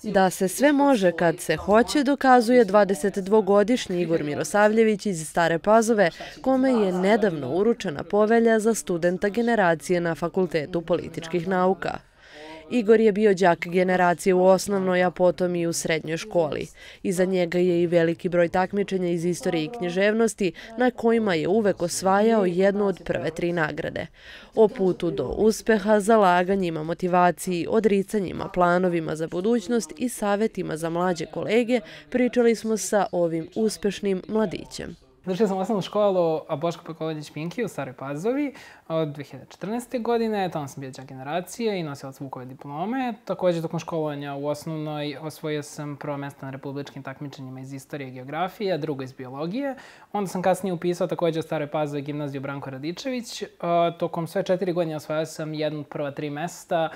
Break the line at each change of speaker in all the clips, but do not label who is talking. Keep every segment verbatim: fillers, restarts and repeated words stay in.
Da se sve može kad se hoće, dokazuje dvadesetdvogodišnji Igor Mirosavljević iz Stare Pazove, kome je nedavno uručena povelja za studenta generacije na Fakultetu političkih nauka. Igor je bio đak generacije u osnovnoj, a potom i u srednjoj školi. Iza njega je i veliki broj takmičenja iz istorije i književnosti, na kojima je uvek osvajao jednu od prve tri nagrade. O putu do uspeha, zalaganjima, motivaciji, odricanjima, planovima za budućnost i savjetima za mlađe kolege pričali smo sa ovim uspešnim mladićem.
Završio sam osnovnu školu Boško Peković-Pinki u Staroj Pazovi od dve hiljade četrnaeste. godine. Tamo sam bio đak generacije i nosilac Vukove diplome. Također, tokom školovanja u osnovnoj osvojio sam prvo mjesto na republičkim takmičenjima iz istorije i geografije, a drugo iz biologije. Onda sam kasnije upisao također u Staroj Pazovi gimnaziju Branko Radičević. Tokom sve četiri godine osvojio sam jedno od prva tri mjesta,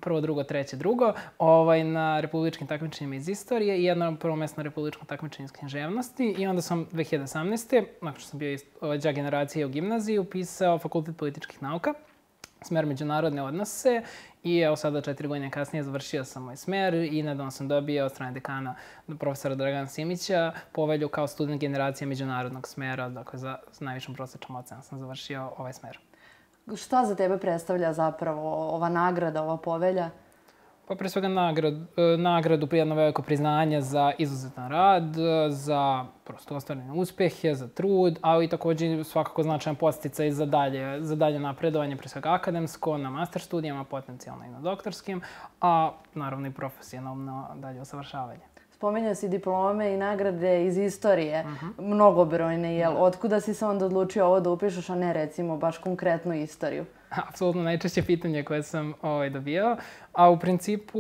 prvo, drugo, treće, drugo, ovaj, na republičkim takmičenjima iz istorije i jedno prvo mjesto na republičkom takmičenju iz književnosti. I onda sam dve hiljade osamnaeste. nakon što sam bio đak generacije u gimnaziji, upisao Fakultet političkih nauka, smer međunarodne odnose i evo sada četiri godine kasnije završio sam moj smer i nedavno sam dobio od strane dekana profesora Dragana Simića povelju kao student generacije međunarodnog smera, dakle za najvišom prosječnom ocenom sam završio ovaj smer.
Šta za tebe predstavlja zapravo ova nagrada, ova povelja?
Pa pre svega nagrad, nagradu, jedno veliko priznanje za izuzetan rad, za prosto ostvarene uspjehe, za trud, ali i također svakako značajan podsticaj za dalje, za dalje napredovanje, pre svega akademsko, na master studijama, potencijalno i na doktorskim, a naravno i profesionalno dalje usavršavanje.
Spominjao si diplome i nagrade iz istorije, mnogobrojne, jel? Otkuda si se onda odlučio ovo da upišeš, a ne recimo baš konkretnu istoriju?
Apsolutno najčešće pitanje koje sam ovaj, dobio, a u principu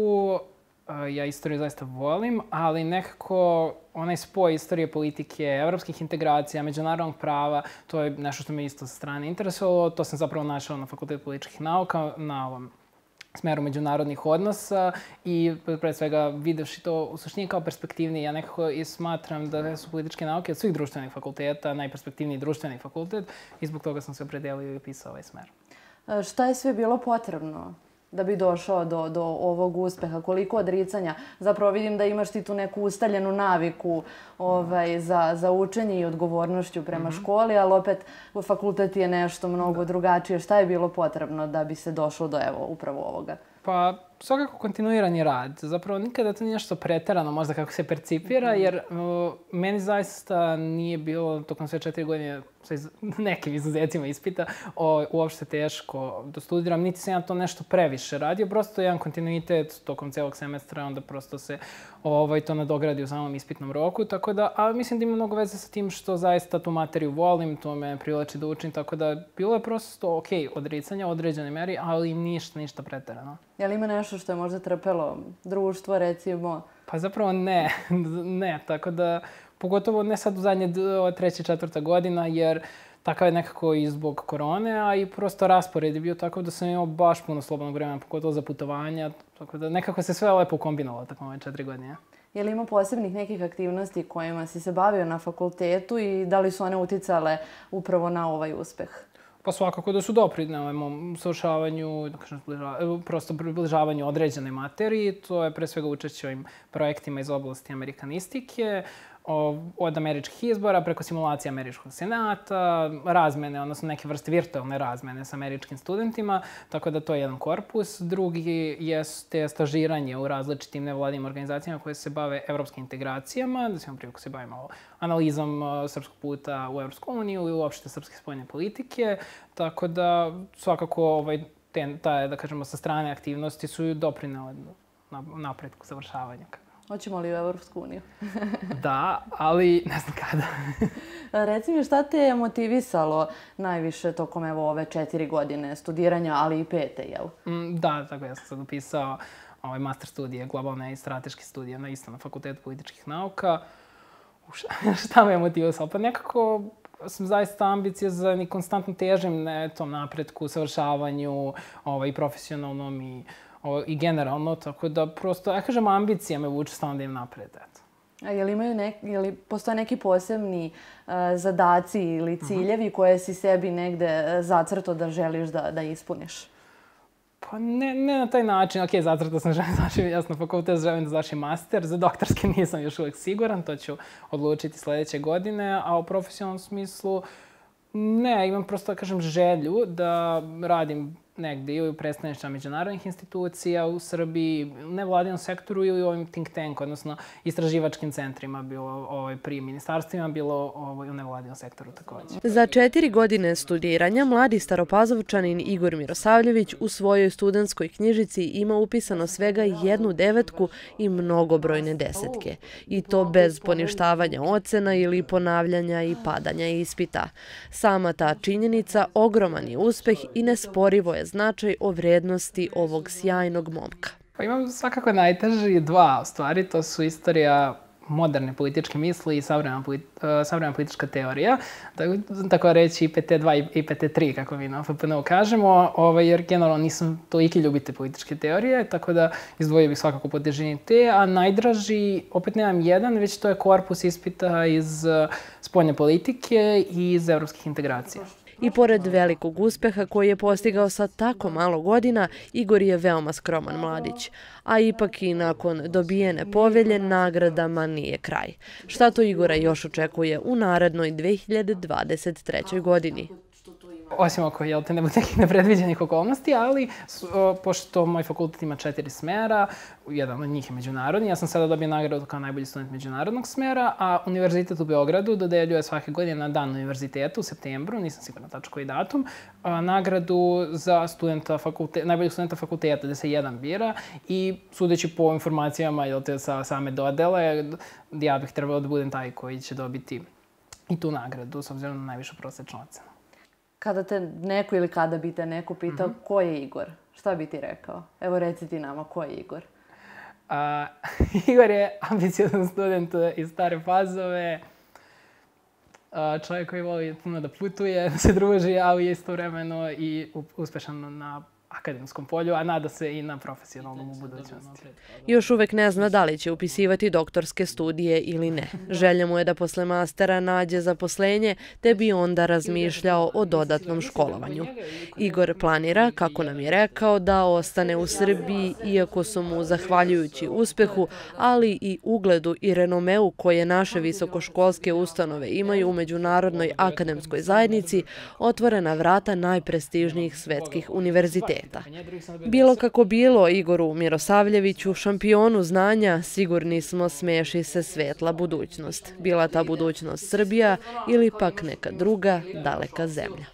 ja istoriju zaista volim, ali nekako onaj spoj istorije politike, evropskih integracija, međunarodnog prava, to je nešto što me isto sa strane interesovalo. To sam zapravo našao na Fakultetu političkih nauka, na ovom smeru međunarodnih odnosa i pre svega videvši to u suštini kao perspektivniji. Ja nekako i smatram da su političke nauke od svih društvenih fakulteta najperspektivniji društveni fakultet i zbog toga sam se opredelio i pisao ovaj smer.
Šta je sve bilo potrebno da bi došao do, do ovog uspeha? Koliko odricanja? Zapravo vidim da imaš ti tu neku ustaljenu naviku ovaj, za, za učenje i odgovornošću prema mm-hmm. školi, ali opet fakultet je nešto mnogo drugačije. Šta je bilo potrebno da bi se došlo do evo, upravo ovoga?
Pa, svakako kontinuirani rad. Zapravo nikada to nije nešto preterano, možda kako se percipira, jer uh, meni zaista nije bilo tokom sve četiri godine sa iz, nekim izuzecima ispita o, uopšte teško da studiram, niti sam ja to nešto previše radio, prosto jedan kontinuitet tokom celog semestra, onda prosto se ovaj, to nadogradi u samom ispitnom roku, tako da, ali mislim da ima mnogo veze sa tim što zaista tu materiju volim, to me privlači da učim, tako da bilo je prosto ok, odricanja u određenoj meri, ali ništa, ništa preterano.
Je li ima nešto što je možda trpelo društvo, recimo?
Pa zapravo ne, ne, tako da, pogotovo ne sad u zadnje treća, četvrta godina, jer takav je nekako i zbog korone, a i prosto raspored je bio tako da sam imao baš puno slobodnog vremena, pogotovo za putovanja, tako da nekako se sve lepo kombinovalo tako ove četiri godine.
Je li ima posebnih nekih aktivnosti kojima si se bavio na fakultetu i da li su one uticale upravo na ovaj uspeh?
Pa svakako da su doprinele mom usavršavanju, da kažem, prosto približavanju određene materiji. To je pre svega učešće ovim projektima iz oblasti amerikanistike, od američkih izbora preko simulacije američkog senata, razmene, odnosno neke vrste virtualne razmene sa američkim studentima, tako da to je jedan korpus. Drugi jeste stažiranje u različitim nevladinim organizacijama koje se bave evropskim integracijama, da se imam priliku se bavimo analizom srpskog puta u Evropsku uniju i uopšte srpske spoljne politike, tako da svakako ovaj, te, ta, da kažemo, sa strane aktivnosti su doprinele napretku završavanja.
Hoćemo li u Evropsku uniju?
Da, ali ne znam kada.
Reci mi, šta te je motivisalo najviše tokom evo, ove četiri godine studiranja, ali i pete, jel?
Mm, da, tako ja sam sad upisao ovaj, master studije, globalne i strateške studije na isto na Fakultetu političkih nauka. Šta, šta me je motivisalo? Pa nekako sam zaista ambiciozan i konstantno težim na tom napretku, savršavanju ovaj, i profesionalnom i i generalno, tako da prosto, ja kažem, ambicija me vuče stalno da im napred, eto.
A je li, imaju nek, je li postoje neki posebni uh, zadaci ili ciljevi uh-huh. koje si sebi negde zacrto da želiš da, da ispuniš?
Pa ne, ne na taj način, ok, zacrtao sam želim da završim jasno fakultet, želim da završim master, za doktorski nisam još uvijek siguran, to ću odlučiti sljedeće godine, a u profesionalnom smislu ne, imam prosto, da kažem, želju da radim negdje ili u predstavništvima međunarodnih institucija u Srbiji, u nevladinom sektoru ili u ovim think tank, odnosno istraživačkim centrima, bilo ovaj, pri ministarstvima, bilo ovaj, u nevladinom sektoru također.
Za četiri godine studiranja mladi Staropazovčanin Igor Mirosavljević u svojoj studentskoj knjižici ima upisano svega jednu devetku i mnogobrojne desetke. I to bez poništavanja ocena ili ponavljanja i padanja ispita. Sama ta činjenica ogroman je uspeh i nesporivo je značaj o vrednosti ovog sjajnog momka.
Pa imam svakako najteži dva stvari, to su istorija moderne političke misli i savremena, politi savremena politička teorija, tako, tako reći I P T dva i I P T tri, kako mi na F P N-u kažemo, ovaj, jer generalno nisam toliki ljubitelj političke teorije, tako da izdvojio bih svakako po težini te, a najdraži, opet nemam jedan, već to je korpus ispita iz spoljne politike i iz evropskih integracija.
I pored velikog uspeha koji je postigao sa tako malo godina, Igor je veoma skroman mladić. A ipak i nakon dobijene povelje nagradama nije kraj. Šta to Igora još očekuje u narednoj dve hiljade dvadeset trećoj godini?
Osim ako jel te ne bude nekih nepredviđenih okolnosti, ali o, pošto moj fakultet ima četiri smera, jedan od njih je međunarodni, ja sam sada dobio nagradu kao najbolji student međunarodnog smera, a Univerzitet u Beogradu dodeljuje svake godine na dan univerziteta u septembru, nisam sigurna tačno koji datum, a, nagradu za studenta fakulte, najboljeg studenta fakulteta, gde se jedan bira i sudeći po informacijama jel te sa same dodele, ja bih trebalo da budem taj koji će dobiti i tu nagradu s obzirom na najvišu prosečnu ocenu.
Kada te neko ili kada bi te neko pitao mm-hmm. ko je Igor, šta bi ti rekao? Evo reci ti nama, ko je Igor?
A, Igor je ambiciozan student iz Stare Pazove, a, čovjek koji voli puno da putuje, da se druži, ali je istovremeno i uspešan na akademskom polju, a nada se i na profesionalnom u budućnosti.
Još uvek ne zna da li će upisivati doktorske studije ili ne. Želja mu je da posle mastera nađe zaposlenje, te bi onda razmišljao o dodatnom školovanju. Igor planira, kako nam je rekao, da ostane u Srbiji, iako su mu, zahvaljujući uspehu, ali i ugledu i renomeu koje naše visokoškolske ustanove imaju u međunarodnoj akademskoj zajednici, otvorena vrata najprestižnijih svetskih univerziteta. Bilo kako bilo, Igoru Mirosavljeviću, šampionu znanja, sigurni smo smeši se svetla budućnost. Bila ta budućnost Srbija ili pak neka druga daleka zemlja.